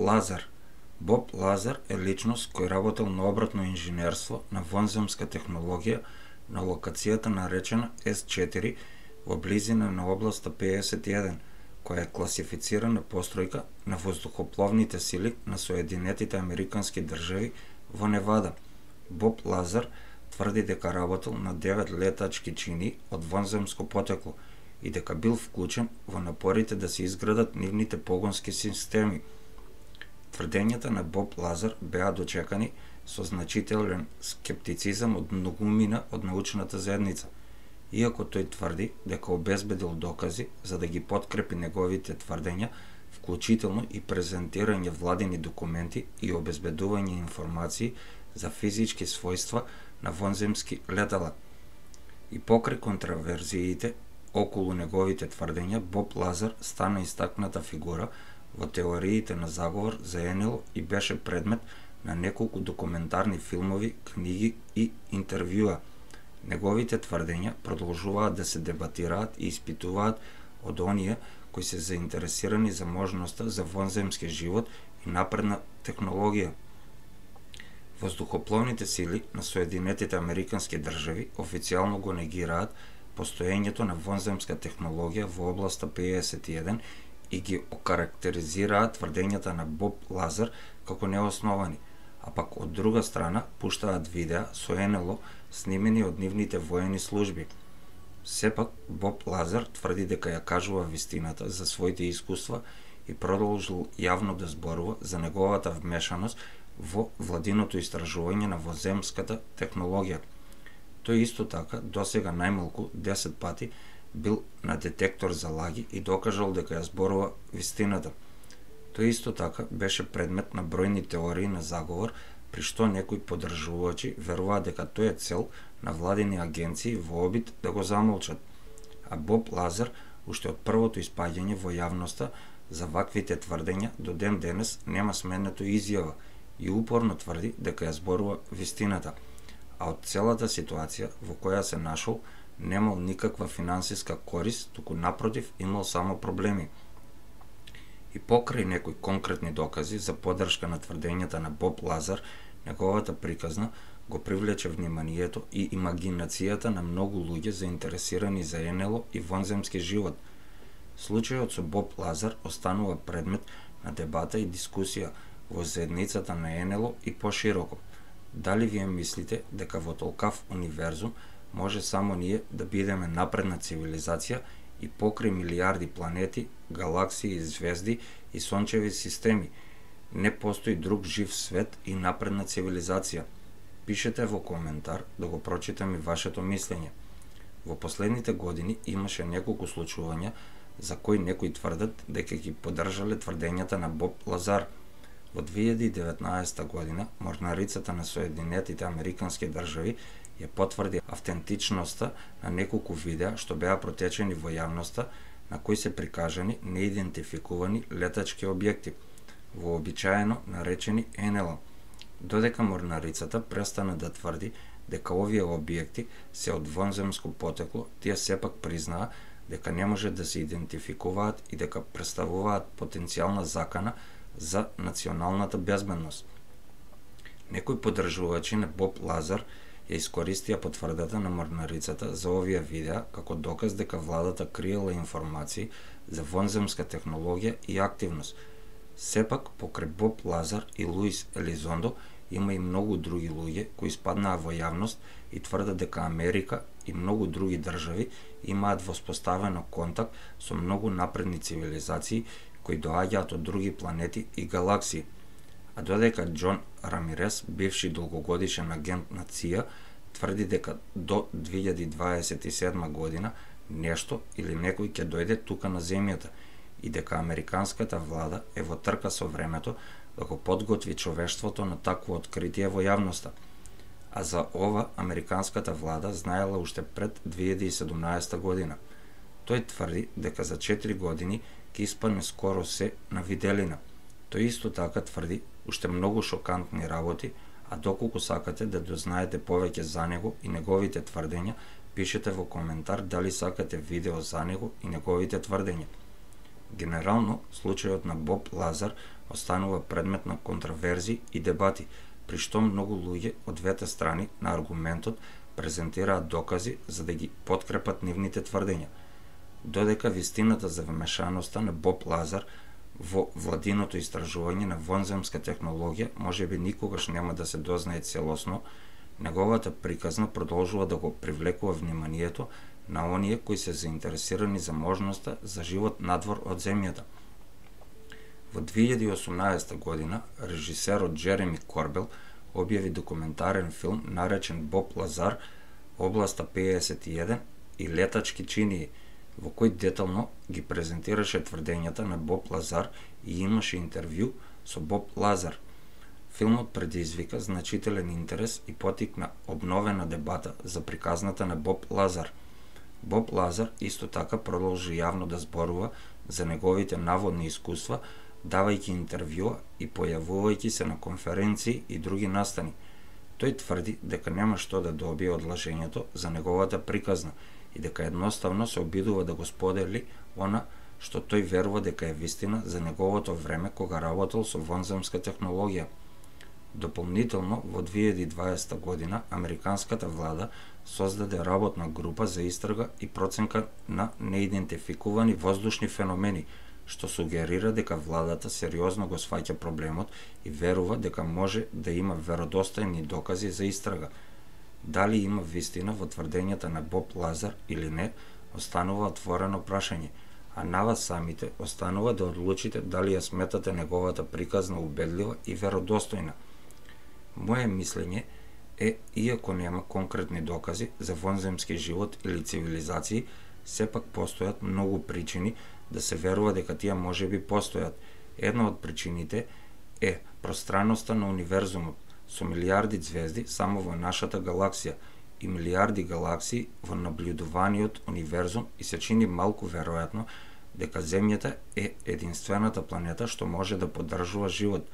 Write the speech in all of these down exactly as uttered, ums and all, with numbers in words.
Лазар. Боб Лазар е личност кој работел на обратно инженерство на вонземска технологија на локацијата наречена Ес четири во близина на областа пеесет и еден, која е класифицирана постројка на воздухопловните сили на Соединетите Американски држави во Невада. Боб Лазар тврди дека работел на девет летачки чини од вонземско потекло и дека бил вклучен во напорите да се изградат нивните погонски системи. Тврдењата на Боб Лазар беа дочекани со значителен скептицизам од многумина од научната заедница, иако тој тврди дека обезбедил докази за да ги подкрепи неговите тврдења, вклучително и презентирање владини документи и обезбедување информации за физички својства на вонземски летала. И покрај контраверзиите околу неговите тврдења, Боб Лазар стана истакната фигура во теориите на заговор за Ен Ел и беше предмет на неколку документарни филмови, книги и интервјуа. Неговите тврдења продолжуваат да се дебатираат и испитуваат од оние кои се заинтересирани за можноста за вонземски живот и напредна технологија. Воздухопловните сили на Соединетите Американски држави официјално го негираат постоењето на вонземска технологија во областа пеесет и еден и ги окарактеризираат тврдењата на Боб Лазар како неосновани, а пак од друга страна пуштаат видеа со Ен Ел снимени од нивните воени служби. Сепак, Боб Лазар тврди дека ја кажува вистината за своите искуства и продолжил јавно да зборува за неговата вмешаност во владиното истражување на вонземската технологија. Тој исто така досега најмалку десет пати бил на детектор за лаги и докажал дека ја зборува вистината. Тој исто така беше предмет на бројни теории на заговор, при што некои поддржувачи веруваат дека тој е цел на владини агенции во обид да го замолчат. А Боб Лазар, уште од првото испаѓање во јавноста за ваквите тврдења, до ден денес нема сменето изјава и упорно тврди дека ја зборува вистината, а од целата ситуација во која се нашол немал никаква финансиска корист, туку напротив имал само проблеми. И покрај некои конкретни докази за поддршка на тврдењата на Боб Лазар, неговата приказна го привлече вниманието и имагинацијата на многу луѓе заинтересирани за Ен Ел и вонземски живот. Случајот со Боб Лазар останува предмет на дебата и дискусија во заедницата на Ен Ел и пошироко. Дали вие мислите дека во толкав универзум може само ние да бидеме напредна цивилизација и покрај милиарди планети, галаксии и звезди и сончеви системи не постои друг жив свет и напредна цивилизација? Пишете во коментар да го прочитам и вашето мислење. Во последните години имаше неколку случувања за кои некои тврдат дека ги поддржале тврдењата на Боб Лазар. Во две илјади и деветнаесета година морнарицата на Соединетите Американски држави ја потврди автентичноста на неколку видеа што беа протечени во јавноста, на кои се прикажани неидентификувани летачки објекти, вообичаено наречени Ен Ел. Додека морнарицата престана да тврди дека овие објекти се од вонземско потекло, тие сепак признаа дека не може да се идентификуваат и дека представуваат потенцијална закана за националната безбедност. Некои поддржувачи на Боб Лазар ја искористија потврдата на морнарицата за овие видеа како доказ дека владата криела информации за вонземска технологија и активност. Сепак, покрај Боб Лазар и Луис Елизондо, има и многу други луѓе кои спаднаа во јавност и тврдат дека Америка и многу други држави имаат воспоставено контакт со многу напредни цивилизации кои доаѓаат од други планети и галаксии. А додека Џон Рамирес, бивши долгогодишен агент на Ци А, тврди дека до две илјади дваесет и седма година нешто или некој ќе дојде тука на земјата и дека американската влада е во трка со времето да го подготви човештвото на такво откритие во јавноста. А за ова американската влада знаела уште пред две илјади и седумнаесета година. Тој тврди дека за четири години ќе испадне скоро се на виделина. Тој исто така тврди уште многу шокантни работи, а доколку сакате да дознаете повеќе за него и неговите тврдења, пишете во коментар дали сакате видео за него и неговите тврдења. Генерално, случајот на Боб Лазар останува предмет на контраверзии и дебати, при што многу луѓе од двете страни на аргументот презентираат докази за да ги подкрепат нивните тврдења. Додека вистината за вмешаноста на Боб Лазар во владиното истражување на вонземска технологија можеби никогаш нема да се дознае целосно, неговата приказна продолжува да го привлекува вниманието на оние кои се заинтересирани за можноста за живот надвор од земјата. Во две илјади и осумнаесета година режисерот Джереми Корбел објави документарен филм наречен Боб Лазар, областа пеесет и еден и летачки чинии, во кој детално ги презентираше тврдењата на Боб Лазар и имаше интервју со Боб Лазар. Филмот предизвика значителен интерес и потикна обновена дебата за приказната на Боб Лазар. Боб Лазар исто така продолжи јавно да зборува за неговите наводни искуства, давајќи интервјуа и појавувајќи се на конференции и други настани. Тој тврди дека нема што да добие од лажењето за неговата приказна и дека едноставно се обидува да го сподели она што тој верува дека е вистина за неговото време кога работел со вонземска технологија. Дополнително, во две илјади и дваесета година, американската влада создаде работна група за истрага и проценка на неидентификувани воздушни феномени, што сугерира дека владата сериозно го сваќа проблемот и верува дека може да има веродостојни докази за истрага. Дали има вистина во тврдењата на Боб Лазар или не, останува отворено прашање, а на вас самите останува да одлучите дали ја сметате неговата приказна убедлива и веродостојна. Моје мислење е, иако нема конкретни докази за вонземски живот или цивилизации, сепак постојат многу причини да се верува дека тие можеби постојат. Една од причините е пространноста на универзумот, со милиарди звезди само во нашата галаксија и милиарди галаксии во наблюдуваниот универзум и се чини малку веројатно дека Земјата е единствената планета што може да поддржува живот.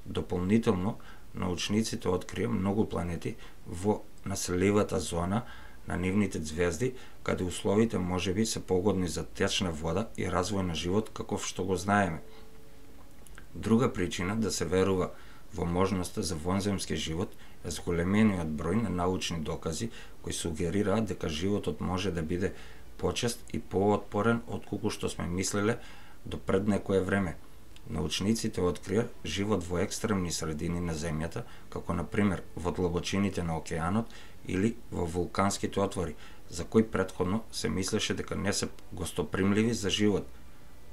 Дополнително, научниците открија многу планети во населливата зона на нивните звезди, каде условите можеби се погодни за течна вода и развој на живот каков што го знаеме. Друга причина да се верува во можноста за вонземски живот е зголемениот број на научни докази кои сугерираат дека животот може да биде почест и поотпорен отколку што сме мислеле до пред некое време. Научниците открија живот во екстремни средини на Земјата, како на пример во длабочините на океанот или во вулканските отвори, за кои претходно се мислеше дека не се гостопримливи за живот.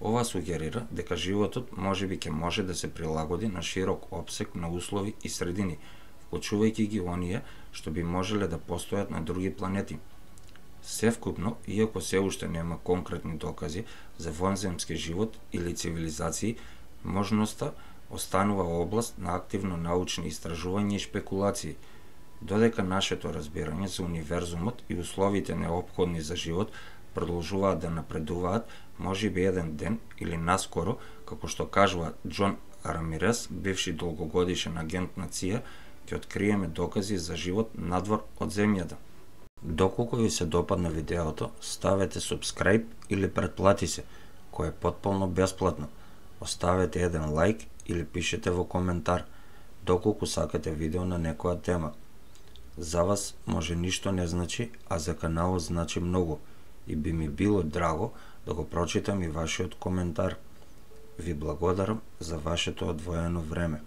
Ова сугерира дека животот можеби ќе може да се прилагоди на широк опсег на услови и средини, вклучувајќи ги оние што би можеле да постојат на други планети. Севкупно, иако се уште нема конкретни докази за вонземски живот или цивилизации, можноста останува област на активно научни истражувања и шпекулации. Додека нашето разбирање за универзумот и условите неопходни за живот продолжуваат да напредуваат, можеби еден ден или наскоро, како што кажува Џон Рамирес, бивши долгогодишен агент на ЦИ А, ќе откриеме докази за живот надвор од Земјата. Доколку ви се допадна видеото, ставете subscribe или претплати се, кој е потполно бесплатно. Оставете еден лайк или пишете во коментар, доколку сакате видео на некоја тема. За вас може ништо не значи, а за каналот значи многу и би ми било драго да го прочитам и вашиот коментар. Ви благодарам за вашето одвоено време.